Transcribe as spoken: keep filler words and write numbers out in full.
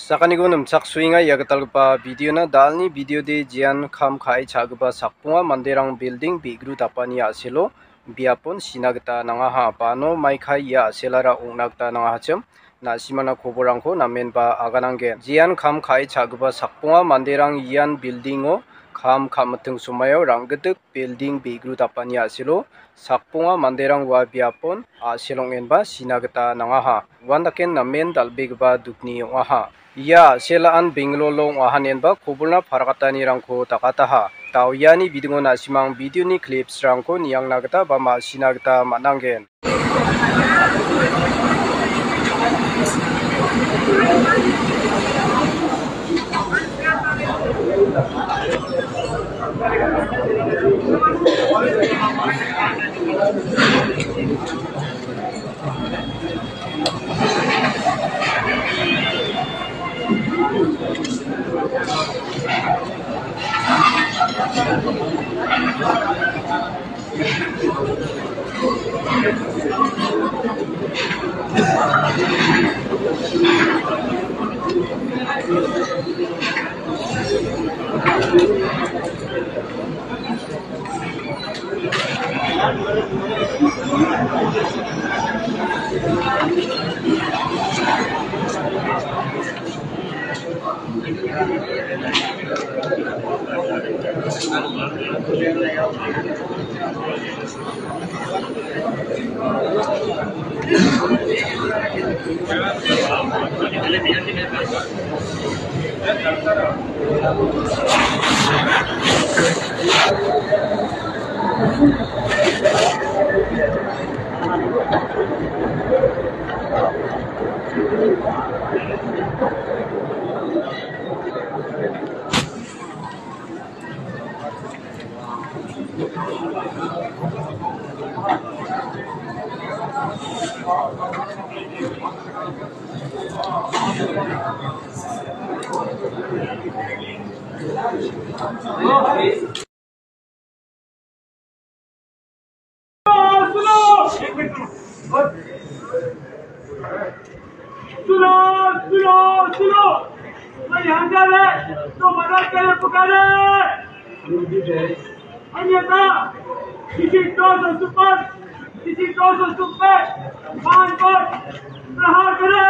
Sakaniko nimchaksoenga ia gitalgipa videona. Dalni videode jean kam ka·e cha·gipa sakbonga manderang building be·gru dapani a·selo biapon sina gita nangaha. Bano mai kai ia a·selara ong·na gita nangahachim. Na·simana koborangko namenba agananggen. Jean kam ka·e cha·gipa sakbonga manderang ian buildingo kam ka·miting somaio rang·gitik building be·gru dapani a·selo sakbonga manderang ua biapon a·selongenba sina gita nangaha. Uandaken namen dal·begipa dukni ong·aha. Ia a·selaan Bengaluru ong·ahanenba koborna parakatanirangko dakataha. Daoiani bidingo na·simang videoni clipsrangko niangna gita ba ma·sina gita man·angen. सुनो, सुनो, सुनो। मैं यहाँ जा रहे, तो मदद के लिए पुकारे। अन्यथा किसी दो सौ सुपर, किसी दो सौ सुपर मान पर प्रहार करे।